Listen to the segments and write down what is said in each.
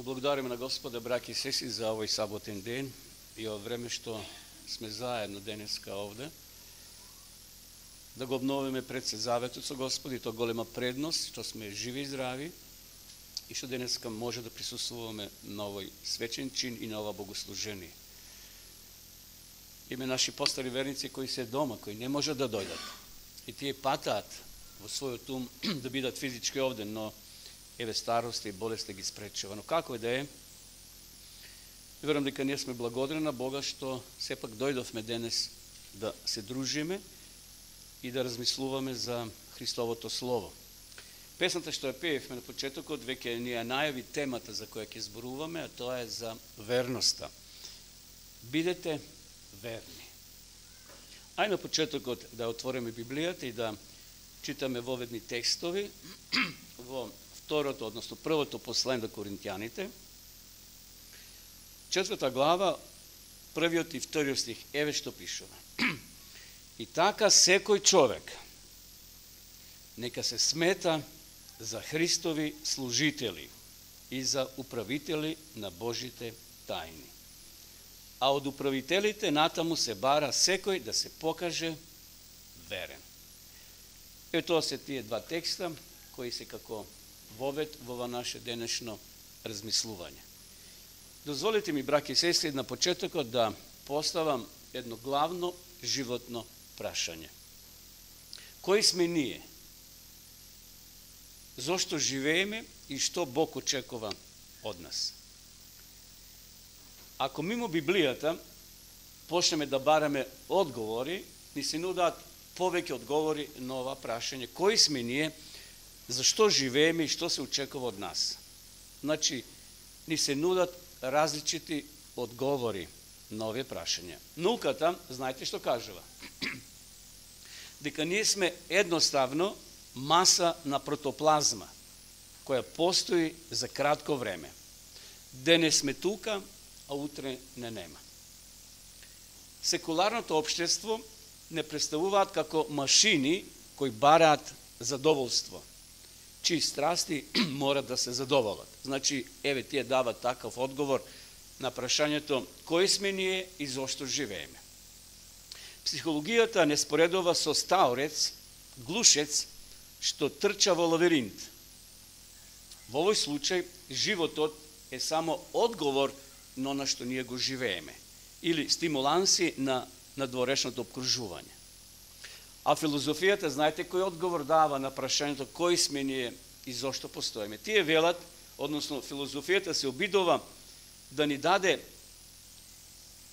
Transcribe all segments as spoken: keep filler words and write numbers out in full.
Благодариме на Господа, браќи и сестри, за овој саботен ден и од време што сме заедно денеска овде. Да го обновиме пред се заветот со Господи, тоа голема предност, што сме живи и здрави и што денеска може да присуствуваме на овој свечен чин и на ова богослужение. Име наши постари верници кои се дома, кои не можат да дојдат. И тие патаат во својот ум да бидат физички овде, но еве старост и болест ги спречува. Но како и да е, верувам дека ние сме благодарни на Бога што сепак дојдовме денес да се дружиме и да размислуваме за Христовото Слово. Песната што ја пеевме на почетокот веќе ни ја најави темата за која ќе зборуваме, а тоа е за верноста. Бидете верни. Ај на почетокот да отвориме Библијата и да читаме воведни текстови во второто, односно првото послание до Коринтијаните, четврта глава, првиот и вториот стих, еве што пишува. И така секој човек нека се смета за Христови служители и за управители на Божите тајни. А од управителите натаму се бара секој да се покаже верен. Е тоа се тие два текста кои се како вовед во ова наше денешно размислување. Дозволите ми, браќи и сестри, на почетокот да поставам едно главно животно прашање. Кои сме ние? Зошто живееме и што Бог очекува од нас? Ако мимо Библијата почнеме да бараме одговори, ни се нудат повеќе одговори на ова прашање. Кои сме ние? Зашто живееме и што се очекува од нас? Значи, ни се нудат различити одговори на овие прашања. Науката, знаете што кажува? Дека ние сме едноставно маса на протоплазма, која постои за кратко време. Денес сме тука, а утре не нема. Секуларното општество не представуваат како машини кои бараат задоволство, чии страсти морат да се задоволат. Значи, еве тие дават такав одговор на прашањето кои сме ние и зошто живееме. Психологијата не споредува со стаорец, глушец, што трча во лавиринт. Во овој случај, животот е само одговор на она што ние го живееме, или стимуланси на надворешното обкружување. А филозофијата, знаете кој одговор дава на прашањето кои сме ние и зошто постоиме? Тие велат, односно филозофијата се обидува да ни даде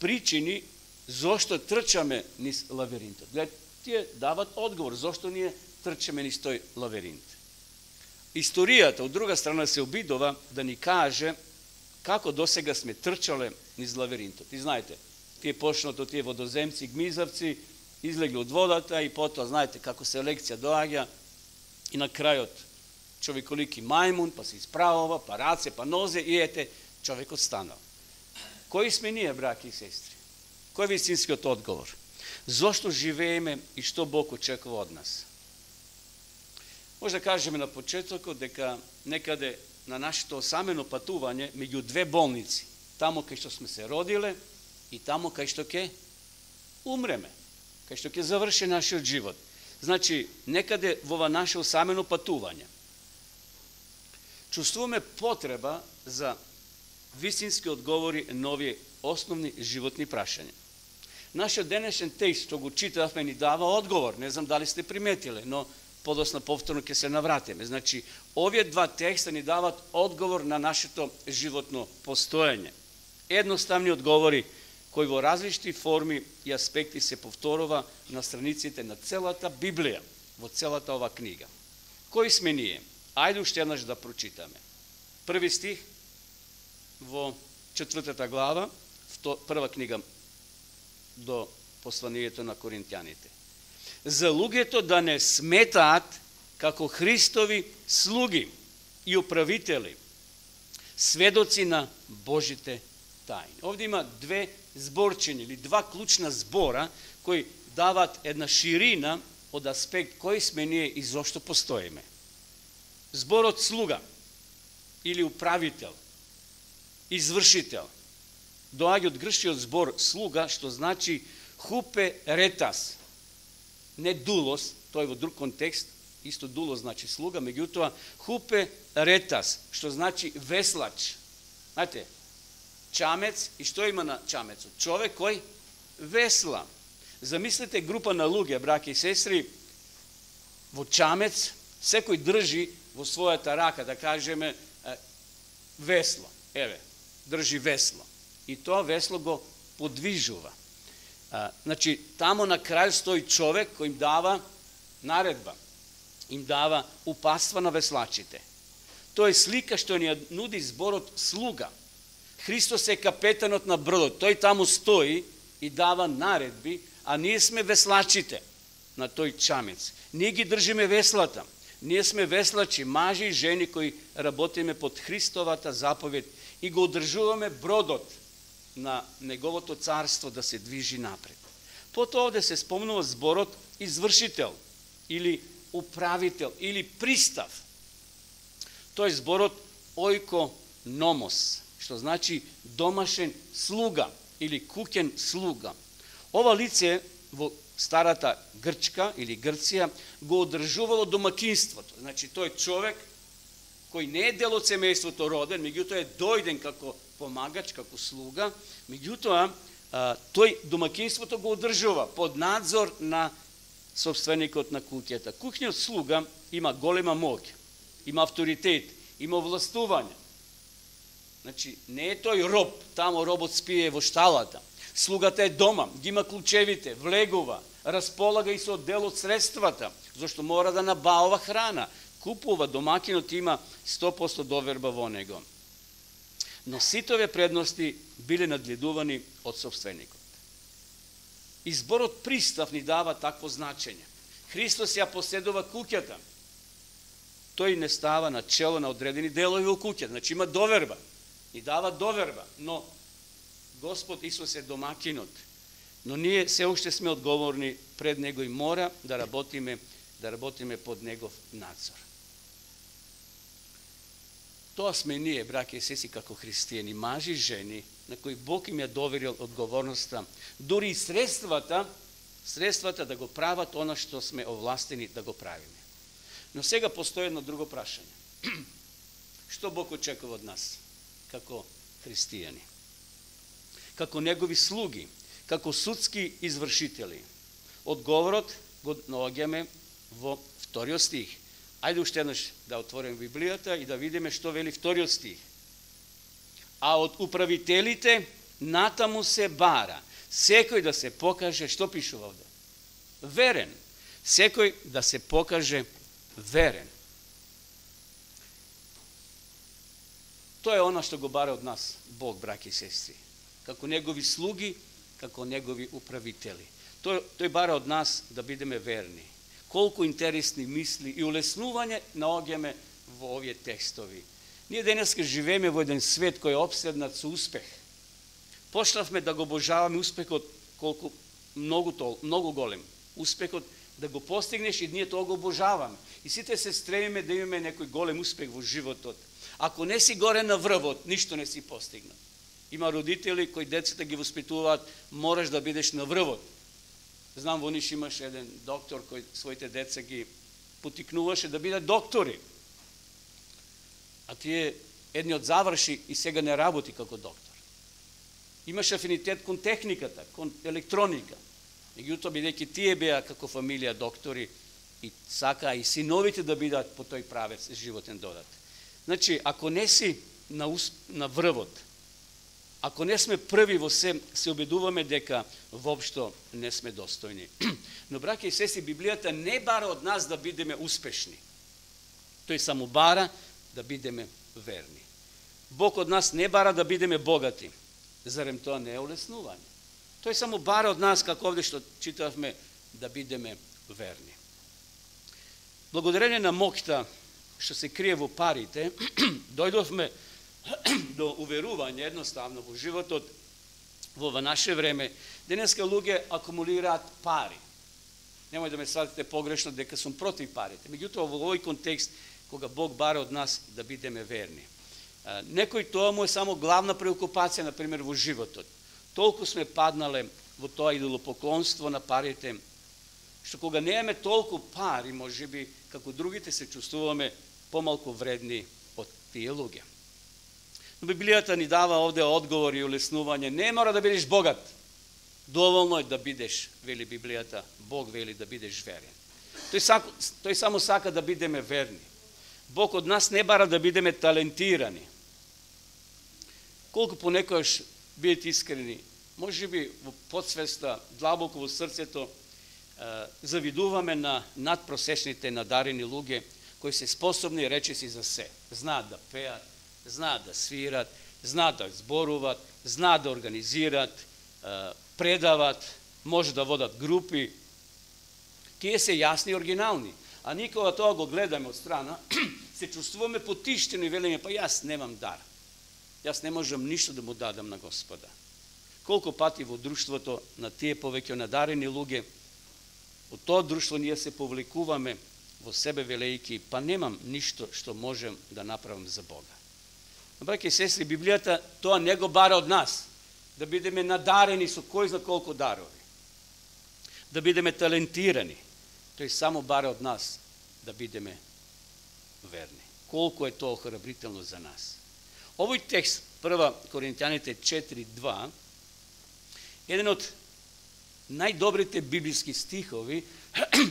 причини зошто трчаме низ лавиринтот. Глед, тие дават одговор зошто ние трчаме низ тој лавиринт. Историјата, од друга страна, се обидува да ни каже како досега сме трчале низ лавиринтот. И знаете, тие почнато тие водоземци, гмизавци, излегли од водата и потоа, знаете, како селекција доаѓа и на крајот човеколики мајмун, па се исправува, па раце, па нозе и ете, човекот станал. Кои сме ние, браќи и сестри? Кој е вистинскиот одговор? Зошто живееме и што Бог очекува од нас? Може да кажеме на почетокот дека некаде на нашето самено патување меѓу две болници, тамо кај што сме се родиле и тамо кај што ќе умреме, кај што ќе заврши нашиот живот. Значи, некаде во ова наше самено патување чувствуваме потреба за вистински одговори на овие основни животни прашања. Нашиот денешен текст што го читавме ни дава одговор, не знам дали сте приметиле, но подосна повторно ќе се навратиме. Значи, овие два текста ни дават одговор на нашето животно постоење. Едноставни одговори кои во различни форми и аспекти се повторува на страниците на целата Библија, во целата ова книга. Кои сме ние? Ајде уште еднаш да прочитаме. Први стих во четвртата глава, прва книга до посланието на Коринтијаните. За луѓето да не сметаат како Христови слуги и управители, сведоци на Божите тајни. Овде има две зборчини или два клучна збора кои дават една ширина од аспект кои сме ние и зошто постоиме. Зборот слуга или управител извршител. Доаѓа од грчкиот збор слуга, што значи хупе ретас. Не дулос, тој во друг контекст, исто дулос значи слуга, меѓутоа хупе ретас, што значи веслач. Знаете, чамец, и што има на чамецот? Човек кој весла. Замислете група на луѓе, браќа и сестри, во чамец, секој држи во својата рака, да кажеме, весло. Еве, држи весло. И тоа весло го подвижува. А, значи, тамо на крај стои човек кој им дава наредба, им дава упатства на веслачите. Тоа е слика што ни нуди зборот слуга. Христос е капетанот на бродот. Тој таму стои и дава наредби, а ние сме веслачите на тој чамец. Ние ги држиме веслата. Ние сме веслачи, мажи и жени кои работиме под Христовата заповед и го одржуваме бродот на неговото царство да се движи напред. Потоа овде се спомнува зборот извршител или управител или пристав. Тој зборот ојкономос, што значи домашен слуга или куќен слуга. Ова лице во старата Грчка или Грција го одржувало домакинството. Значи тој човек кој не е дел од семејството роден, меѓутоа е дојден како помагач, како слуга, меѓутоа тој домакинството го одржува под надзор на собственикот на куќата. Куќниот слуга има голема моќ, има авторитет, има властување. Значи, не е тој роб, тамо робот спие во шталата. Слугата е дома, ги има клучевите, влегува, располага и со дел од средствата, зашто мора да набавува храна. Купува, домакинот има сто проценти доверба во него. Но сите овие предности биле надгледувани од собственикот. Изборот пристав ни дава такво значење. Христос ја поседува куќата. Тој не става на чело на одредени делови во куќата. Значи има доверба. Ни дава доверба. Но Господ Исус е домакинот. Но ние се уште сме одговорни пред Него и мора да работиме, да работиме под Негов надзор. Тоа сме ние, браќа и сестри, како христијани, мажи и жени, на кои Бог им ја доверил одговорноста, дури и средствата, средствата да го прават она што сме овластени да го правиме. Но сега постои едно друго прашање. Што Бог очекува од нас, како христијани? Како негови слуги, како судски извршители? Одговорот го наоѓаме во вториот стих. Ајде уште еднаш да отворим Библијата и да видиме што вели вториот стих. А од управителите натаму се бара секој да се покаже, што пишува овде? Верен. Секој да се покаже верен. Тоа е она што го бара од нас Бог, браќи и сестри. Како негови слуги, како негови управители. Тој, тој бара од нас да бидеме верни. Колку интересни мисли и улеснување наоѓаме во овие текстови. Ние денеска живееме во еден свет кој е обседнат со успех. Почнавме да го обожаваме успехот колку многу тол, многу голем. Успехот да го постигнеш и ние тоа го обожаваме. И сите се стремиме да имаме некој голем успех во животот. Ако не си горе на врвот, ништо не си постигнал. Има родители кои децата ги воспитуваат, мораш да бидеш на врвот. Знам, во Ниш имаше еден доктор кој своите деца ги потикнуваше да бидат доктори. А тие едниот заврши и сега не работи како доктор. Имаше афинитет кон техниката, кон електроника. Меѓутоа, бидејќи тие беа како фамилија доктори и сака и синовите да бидат по тој правец животен додат. Значи, ако не си на, на врвот, ако не сме први во се, се убедуваме дека воопшто не сме достојни. Но, браќа и сестри, Библијата не бара од нас да бидеме успешни. Тој само бара да бидеме верни. Бог од нас не бара да бидеме богати. Зарем тоа не е улеснување? Тој само бара од нас, како овде што читавме, да бидеме верни. Благодарение на моќта што се крие во парите, дојдовме до уверување едноставно во животот во наше време. Денеска луѓе акумулираат пари. Немој да ме сватите погрешно дека сум против парите. Меѓутоа во овој контекст кога Бог бара од нас да бидеме верни. Некој тоа му е само главна преокупација, например, во животот. Толку сме паднале во тоа идолопоклонство на парите, што кога немаме толку пари, може би, како другите се чувствуваме помалку вредни од тие луѓе. Но Библијата ни дава овде одговор и улеснување. Не мора да бидеш богат. Доволно е да бидеш, вели Библијата, Бог вели да бидеш верен. Тој, сако, тој само сака да бидеме верни. Бог од нас не бара да бидеме талентирани. Колку понекогаш, бидете искрени, може би во подсвеста, длабоко во срцето, завидуваме на надпросечните надарени луѓе кои се способни речиси за се. Знаат да пеат, знаат да свират, знаат да зборуват, знаат да организират, предават, може да водат групи. Тие се јасни и оригинални. А никога тоа го гледаме од страна, се чувствуваме потиштени и велиме, па јас немам дар. Јас не можам ништо да му дадам на Господа. Колку пати во друштвото на тие повеќе надарени луѓе, во тоа друштво ние се повлекуваме во себе велејки, па немам ништо што можем да направам за Бога. Браќи и сестри, Библијата тоа не го бара од нас, да бидеме надарени со кој зна колку дарови, да бидеме талентирани. Тој само бара од нас да бидеме верни. Колку е тоа охрабрително за нас. Овој текст, прва Коринтјаните четири два, еден од најдобрите библиски стихови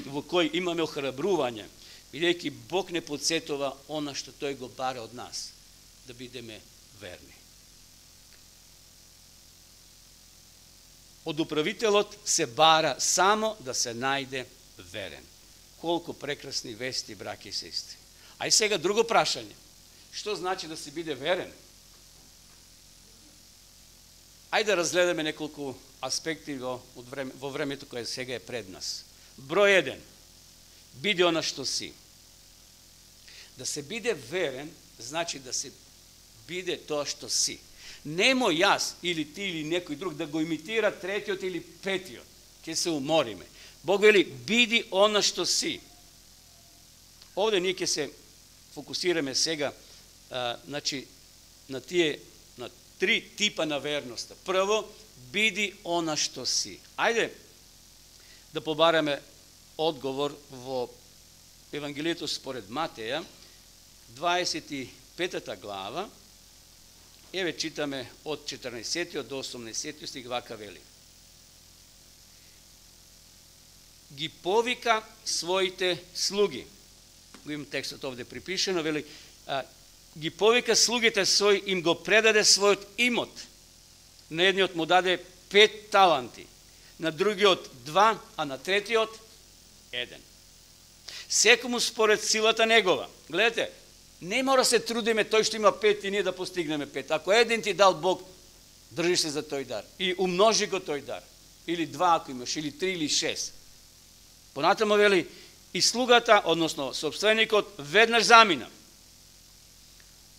во кои имаме охрабрување, бидејќи Бог не подсетува она што тој го бара од нас, да бидеме верни. Од управителот се бара само да се најде верен. Колку прекрасни вести, браќи и сестри. А и сега друго прашање. Што значи да се биде верен? Ајде да разгледаме неколку аспекти во, време, во времето кое сега е пред нас. Број еден. Биде она што си. Да се биде верен, значи да се биде тоа што си. Немо јас или ти или некој друг да го имитира третиот или петиот. Ке се умориме. Бог вели, биди она што си. Овде ние ќе се фокусираме сега а, значи, на тие на три типа на верноста. Прво, биди она што си. Ајде да побараме одговор во Евангелието според Матеја, дваесет и петата глава. Еве читаме од четрнаесеттиот до осумнаесеттиот стих, вака вели. Ги повика своите слуги. Го имам текстот овде припишено, вели, а, ги повика слугите своји, им го предаде својот имот. На едниот му даде пет таланти, на другиот два, а на третиот еден. Секому според силата негова. Гледате, не мора се трудиме тој што има пет и ние да постигнеме пет. Ако еден ти дал Бог, држи се за тој дар. И умножи го тој дар. Или два ако имаш, или три, или шест. Понатамо вели, и слугата, односно собственикот, веднаш замина.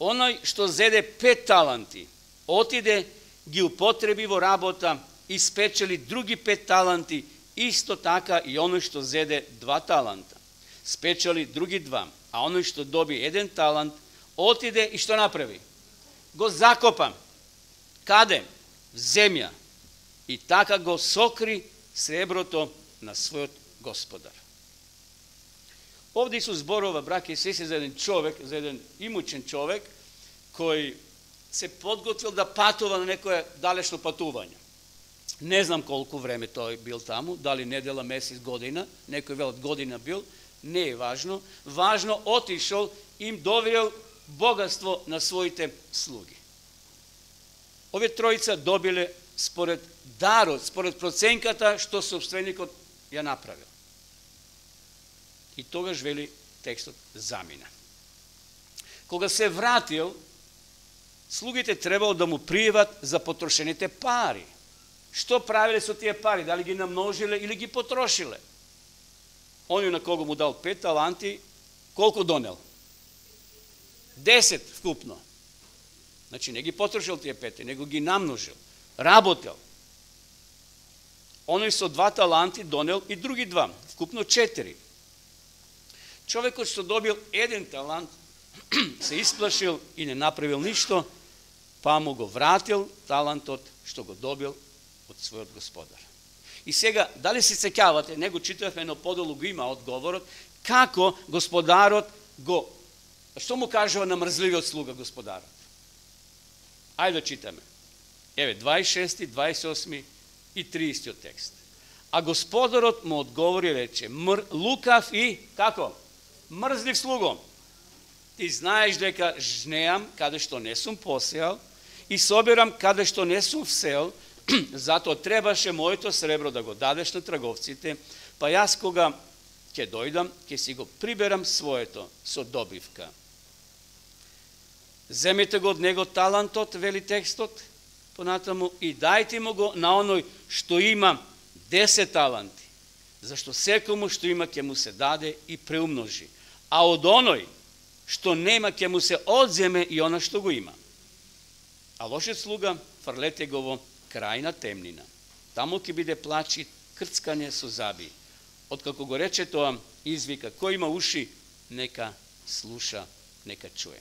Оној што зеде пет таланти, отиде, ги употреби во работа и спечели други пет таланти, исто така и оној што зеде два таланта. Спечели други два, а оној што доби еден талант, отиде и што направи? Го закопа. Каде? В земја. И така го сокри среброто на својот Господар. Овде Исус зборува, браќи и сестри, за еден човек, за еден имучен човек, кој се подготвил да патува на некое далечно патување. Не знам колку време тој бил таму, дали недела, месец, година, некој велат година бил, не е важно. Важно, отишол, им доверил богатство на своите слуги. Овие тројца добиле според дарот, според проценката што собственикот ја направил. И тогаш вели текстот замина. Кога се вратил, слугите требало да му пријават за потрошените пари. Што правиле со тие пари? Дали ги намножиле или ги потрошиле? Оној на кого му дал пет таланти, колку донел? Десет вкупно. Значи не ги потрошил тие пет, него ги намножил. Работел. Оној со два таланти донел и други два, вкупно четири. Човекот што добил еден талант, се исплашил и не направил ништо, па му го вратил талантот што го добил од својот господар. И сега, дали се сеќавате, него читавме, но подолу го има одговорот, како господарот го, што му кажува на мрзливиот слуга господарот? Ајде да читаме. Еве, дваесет и шести, дваесет и осми и триесеттиот текст. А господарот му одговори и рече, мр, лукав и, како? Мрзлив слуго. Ти знаеш дека жнеам каде што не сум посеал и собирам каде што не сум всел, затоа требаше моето сребро да го дадеш на трговците, па јас кога ќе дојдам, ќе си го приберам своето со добивка. Земете го од него талантот, вели текстот, понатаму, и дајте му го на оној што има десет таланти, зашто секому што има ќе му се даде и преумножи, а од оној што нема ќе му се одземе и она што го има. А лошиот слуга фрлете го во крајна темнина. Таму ќе биде плач и крцкање со заби. Откако го рече тоа, извика, кој има уши, нека слуша, нека чуе.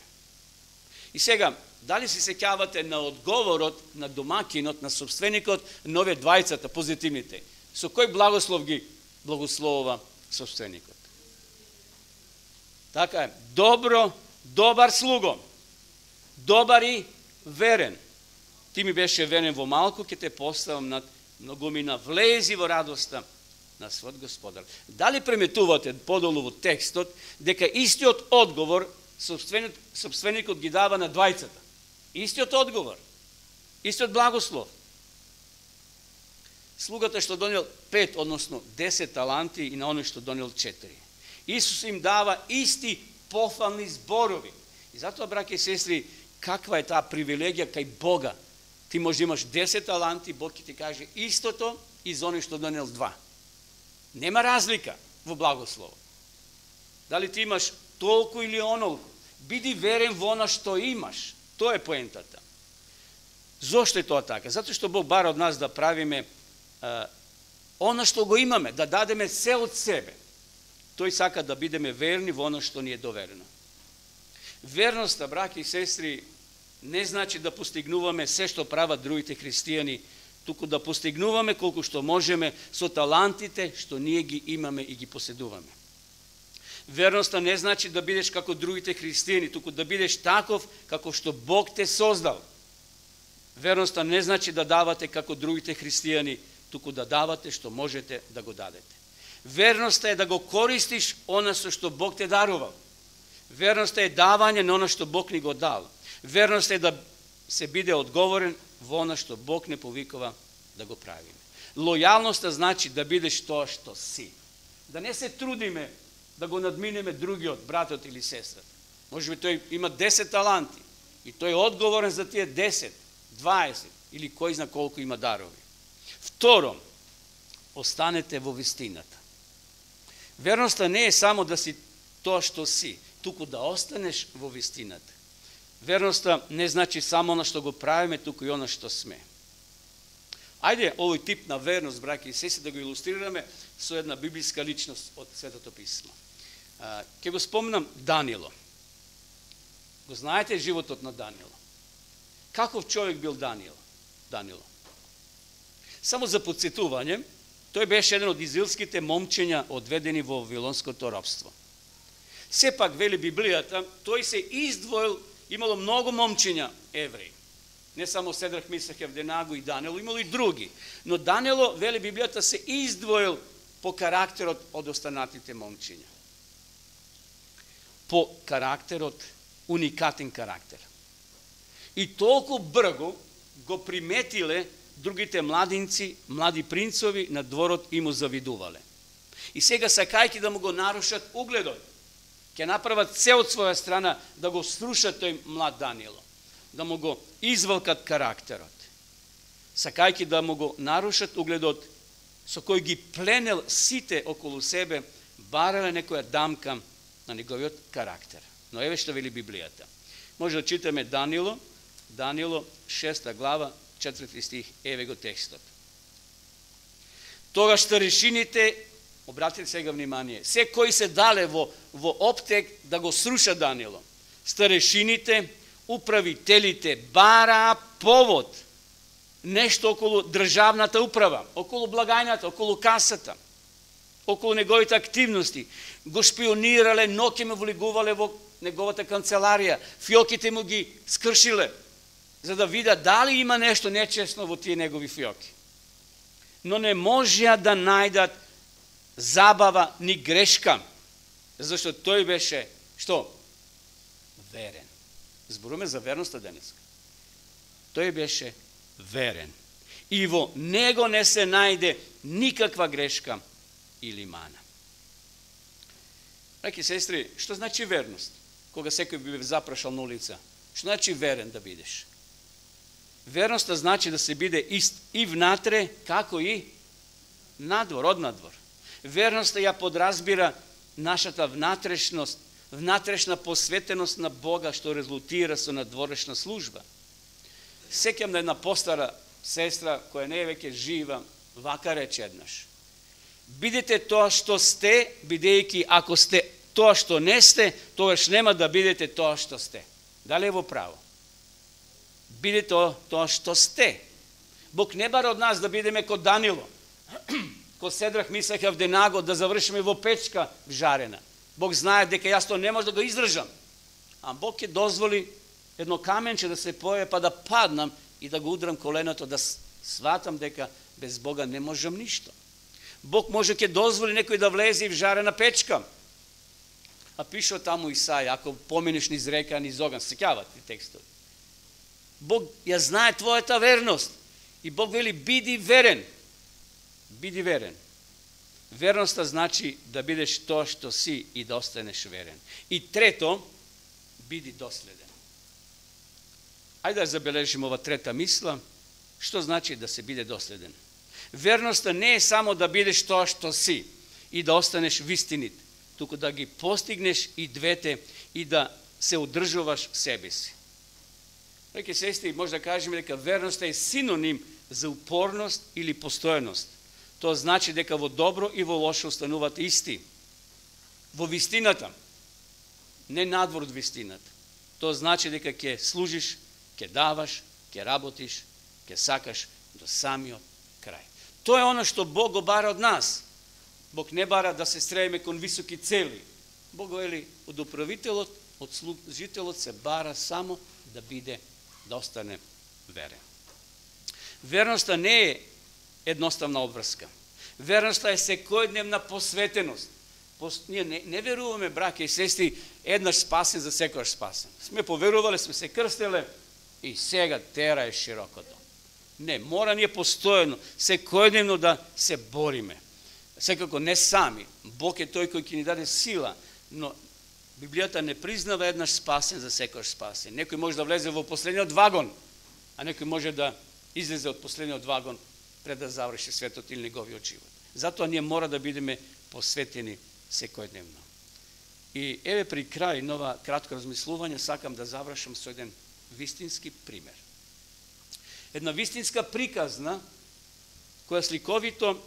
И сега, дали се сеќавате на одговорот на домакинот, на собственикот, на овие двајцата, позитивните? Со кој благослов ги благословува собственикот? Така е, добро, добар слуго, добар и верен. Ти ми беше верен во малку, ќе те поставам над многумина, влези во радоста на својот господар. Дали приметувате подолу во текстот дека истиот одговор собственик, собственикот ги дава на двајцата? Истиот одговор, истиот благослов. Слугата што донел пет, односно десет таланти и на оној што донел четири. Исус им дава исти пофални зборови. И затоа, браќи и сестри, каква е таа привилегија кај Бога? Ти може да имаш десет таланти, Бог ќе ти каже истото и за оној што донел два. Нема разлика во благослово. Дали ти имаш толку или онолку, биди верен во она што имаш. Тоа е поентата. Зошто е тоа така? Затоа што Бог бара од нас да правиме а, она што го имаме, да дадеме се од себе. Тој сака да бидеме верни во оно што ни е доверено. Верноста, браќи и сестри, не значи да постигнуваме се што прават другите христијани, туку да постигнуваме колку што можеме со талантите што ние ги имаме и ги поседуваме. Верноста не значи да бидеш како другите христијани, туку да бидеш таков како што Бог те создал. Верноста не значи да давате како другите христијани, туку да давате што можете да го дадете. Верноста е да го користиш она со што Бог те дарувал. Верноста е давање на она што Бог ни го дал. Верноста е да се биде одговорен во она што Бог не повикува да го правиме. Лојалноста значи да бидеш тоа што си. Да не се трудиме да го надминеме другиот, братот или сестрата. Може би тој има десет таланти и тој е одговорен за тие десет, дваесет или кој зна колку има дарови. Второ, останете во вистината. Верноста не е само да си тоа што си, туку да останеш во вистината. Верноста не значи само на што го правиме, туку и она што сме. Ајде овој тип на верност, браќи и сестри, да го илустрираме со една библиска личност од Светото писмо. Ќе го спомнам Данило. Го знаете животот на Данило. Каков човек бил Данило? Данило. Само за подсетување, тој беше еден од израелските момчиња одведени во вавилонското робство. Сепак, вели Библијата, тој се издвоил, имало многу момчиња евреи. Не само Седрах, Мисах, Евденагу и Данило, имало и други. Но Данило, вели Библијата, се издвоил по карактерот од останатите момчиња. По карактерот, уникатен карактер. И толку брго го приметиле другите младинци, млади принцови на дворот и му завидувале. И сега сакајќи да му го нарушат угледот, ќе направат се од своја страна да го срушат тој млад Данило, да му го извалкат карактерот. Сакајќи да му го нарушат угледот, со кој ги пленел сите околу себе, барале некоја дамка на неговиот карактер. Но еве што вели Библијата. Може да читаме Данило, Данило, шеста глава, четврти стих, еве го текстот. Тогаш старешините, обратите сега внимание, се кои се дале во, во оптек да го сруша Данило, старешините, управителите бараа повод, нешто околу државната управа, околу благајната, околу касата, околу неговите активности. Го шпионирале, ноќе му влегувале во неговата канцеларија, фиоките му ги скршиле, за да видат дали има нешто нечесно во тие негови фиоки. Но не можеа да најдат забава ни грешка, зашто тој беше, што? Верен. Зборуваме за верноста денеска. Тој беше верен. И во него не се најде никаква грешка или мана. Браќи и сестри, што значи верност? Кога секој би запрашал на улица, што значи верен да бидеш? Верноста значи да се биде ист и внатре, како и надвор, од надвор. Верноста ја подразбира нашата внатрешност, внатрешна посветеност на Бога, што резултира со надворешна служба. Сеќам на една постара сестра, која не е веќе жива, вака рече еднаш: бидете тоа што сте, бидејќи ако сте тоа што не сте, тогаш нема да бидете тоа што сте. Дали е во право? Бидете тоа што сте. Бог не бара од нас да бидеме ко Данило, ко Седрах, Мисах и Авденаго, да завршиме во печка жарена. Бог знае дека јас тоа не може да го издржам. А Бог ќе дозволи едно каменче да се појави, па да паднам и да го удрам коленото, да сватам дека без Бога не можам ништо. Бог може ќе дозволи некој да влезе в жарена печка. А пишува таму Исаја, ако поминеш низ река, низ оган, сеќавате текстот. Бог ја знае твојата верност. И Бог вели, биди верен. Биди верен. Верноста значи да бидеш тоа што си и да останеш верен. И трето, биди доследен. Ајде да забележим ова трета мисла, што значи да се биде доследен. Верноста не е само да бидеш тоа што си и да останеш вистинит, туку да ги постигнеш и двете и да се одржуваш себе си. Реки сестри, може да кажеме дека верноста е синоним за упорност или постојаност. Тоа значи дека во добро и во лошо останувате исти. Во вистината, не надвор од вистината. Тоа значи дека ќе служиш, ќе даваш, ќе работиш, ќе сакаш до самиот крај. Тоа е оно што Бог го бара од нас. Бог не бара да се стремиме кон високи цели. Бог вели од управителот, од служителот се бара само да биде, да остане верен. Верноста не е едноставна обврска. Верноста е секојдневна посветеност. Ние не, не веруваме, браќа и сестри, еднаш спасен за секојаш спасен. Сме поверувале, сме се крстеле и сега тера е широкото. Не, мора ние постојано, секојдневно да се бориме. Секако не сами. Бог е тој кој ќе ни даде сила, но Библијата не признава еднаш спасен за секојаш спасен. Некој може да влезе во последниот вагон, а некој може да излезе од последниот вагон пред да заврши светот или неговиот живот. Затоа ние мора да бидеме посветени секојдневно. И еве при крај на ова кратко размислување сакам да завршам со еден вистински пример. Една вистинска приказна која сликовито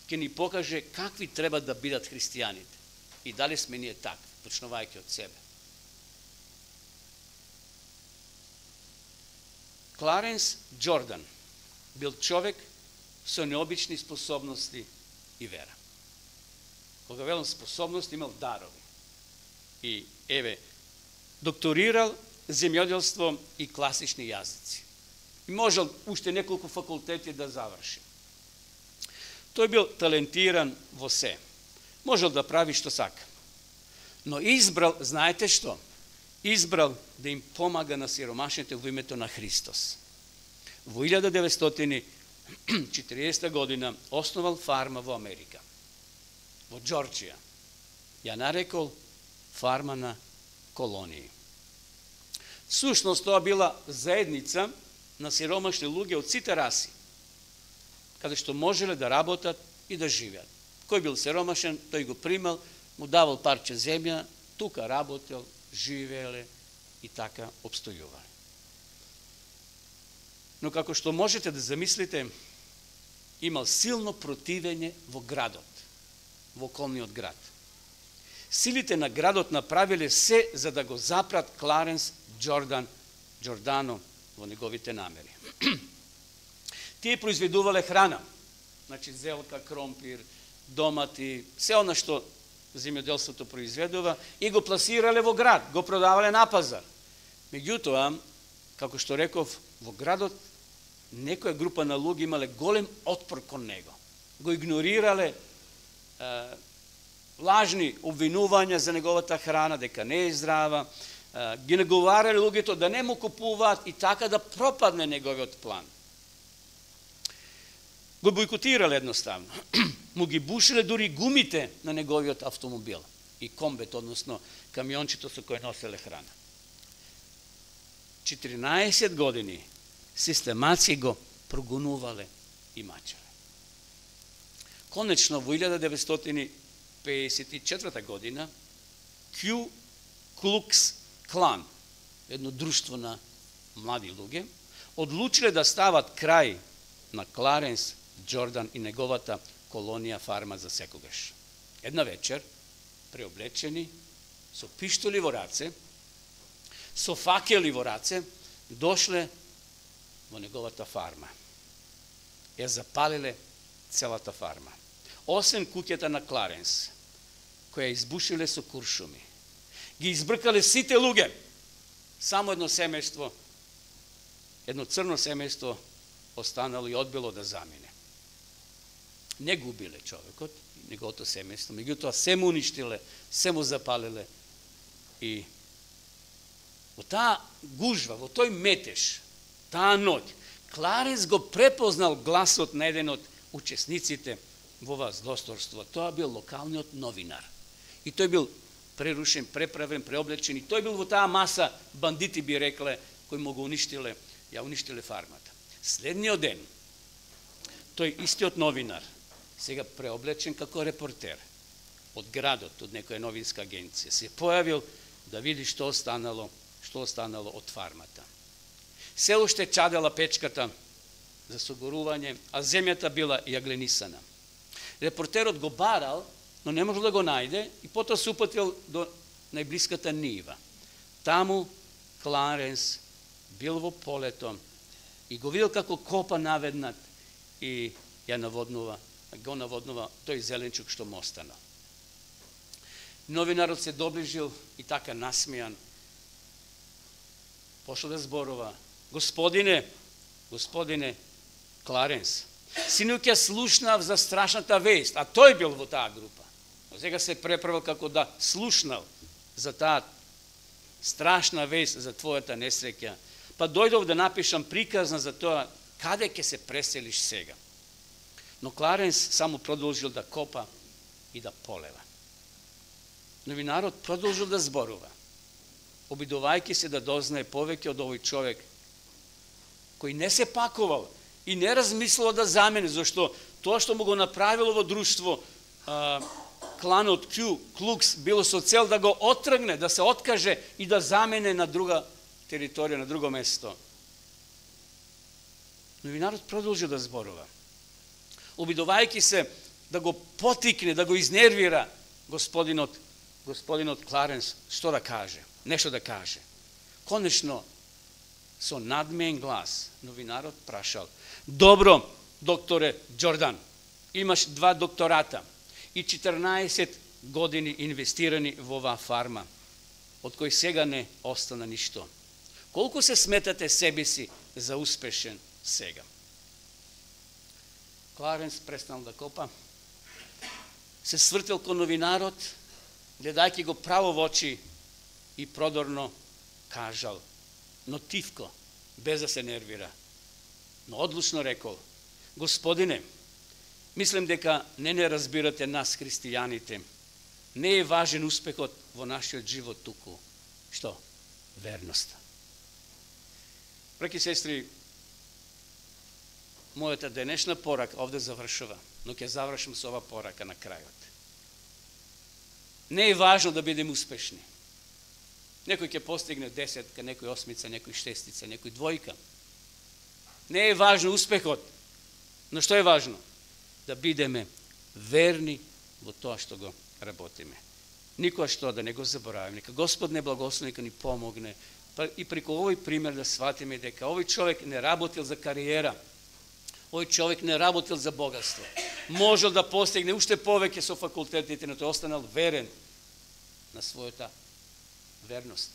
ќе ни покаже какви треба да бидат христијаните и дали сме ние такви, почнувајќи од себе. Кларенс Джордан бил човек со необични способности и вера. Кога велам способности, имал дарови. И еве, докторирал земјоделство и класични јазици. И можел уште неколку факултети да заврши. Тој бил талентиран во се. Можел да прави што сака. Но избрал, знаете што? Избрал да им помага на сиромашните во името на Христос. Во илјада деветстотини и четиридесета година основал фарма во Америка, во Џорџија. Ја нарекол фарма на колонии. Сушност тоа била заедница на сиромашни луѓе од сите раси, каде што можеле да работат и да живеат. Кој бил сиромашен, тој го примал, му давал парче земја, тука работел, живееле и така обстојувале. Но како што можете да замислите, имал силно противење во градот, во околниот град. силите на градот направиле се за да го запрат Кларенс Джордан Джордано во неговите намери. Тие произведувале храна, значи зелка, кромпир, домати, се она што земјоделството произведува, и го пласирале во град, го продавале на пазар. Меѓутоа, како што реков, во градот некоја група на луѓе имале голем отпор кон него. Го игнорирале, е, лажни обвинувања за неговата храна, дека не е здрава, е, ги наговарале луѓето да не му купуваат и така да пропадне неговиот план. Го бойкотирале едноставно. Му ги бушиле дури гумите на неговиот автомобил и комбет, односно камиончето со кој носеле храна. четиринаесет години систематски го прогонувале и мачеле. Конечно, во илјада деветстотини пеесет и четврта година Ку Клукс Клан, едно друштво на млади луѓе, одлучиле да стават крај на Кларенс Джордан и неговата колонија фарма за секогаш. Една вечер, преоблечени, со пиштоли во раце, со факели во раце, дошле во неговата фарма. Ја запалиле целата фарма. Освен куќата на Кларенс, која избушиле со куршуми. Ги избркале сите луѓе. Само едно семејство, едно црно семејство останало и одбило да замине. Не го убиле човекот, неговото семејство, меѓутоа се му уништиле, се му запалиле и во таа гужва, во тој метеж, таа ноќ, Кларенс го препознал гласот на еден од учесниците во ова злосторство. Тоа бил локалниот новинар. И тој бил прерушен, преправен, преоблечен, и тој бил во таа маса бандити, би рекле, кои му го уништиле, ја уништиле фармата. Следниот ден, тој истиот новинар, сега преоблечен како репортер од градот, од некоја новинска агенција, се појавил да види што останало, што останало од фармата. Се уште чадела печката за согорување, а земјата била јагленисана. Репортерот го барал, но не можел да го најде и потоа се упатил до најблиската нива. Таму Кларенс бил во полето и го видел како копа наведнат и ја наводнува, го наводнува тој зеленчук што му останал. Новинарот се доближил и така насмејан пошел да зборува: Господине, господине Кларенс, синоќа слушнав за страшната вест, а тој бил во таа група. Но сега се преправил како да слушнал за таа страшна вест за твојата несреќа. Па дојдов да напишам приказна за тоа каде ќе се преселиш сега. Но Кларенс само продолжил да копа и да полева. Новинарот продолжил да зборува, обидувајќи се да дознае повеќе од овој човек, кој не се пакувал и не размислил да замени, зашто тоа што му го направило во друштво а, кланот Ку Клукс било со цел да го отргне, да се откаже и да замене на друга територија, на друго место. Новинарот продолжи да зборува, обидувајќи се да го потикне, да го изнервира господинот, господинот Кларенс, што да каже, нешто да каже. Конечно, со надмеен глас, новинарот прашал: Добро, докторе Джордан, имаш два доктората и четрнаесет години инвестирани во оваа фарма, од кој сега не остана ништо. Колку се сметате себе си за успешен сега? Кларенс престанал да копа, се свртел кон новинарот, гледајќи го право во очи и продорно кажал, но тивко, без да се нервира, но одлучно рекол: Господине, мислам дека не не разбирате нас, христијаните. Не е важен успехот во нашиот живот туку. Што? Верноста. Браќи и сестри, мојата денешна порака овде завршува, но ќе завршам со ова порака на крајот. Не е важно да бидеме успешни. Некој ќе постигне десетка, некој осмица, некој шестица, некој двојка. Не е важно успехот, но што е важно? Да бидеме верни во тоа што го работиме. Никогаш тоа да не го забораваме. Нека Господ не благослови, нека ни помогне. Па и преку овој пример да сватиме дека овој човек не работил за кариера, овој човек не работил за богатство. Можел да постигне уште повеќе со факултетите, но тој останал верен на својата верност.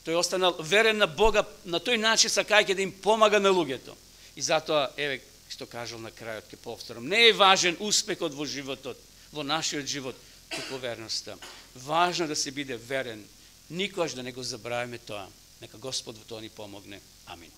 Тој останал верен на Бога, на тој начин сакајќи да им помага на луѓето. И затоа, еве, што кажал на крајот, ке повторам, не е важен успехот во животот, во нашиот живот, туку верноста. Важно да се биде верен, никогаш да не го забравиме тоа. Нека Господ во тоа ни помогне. Амин.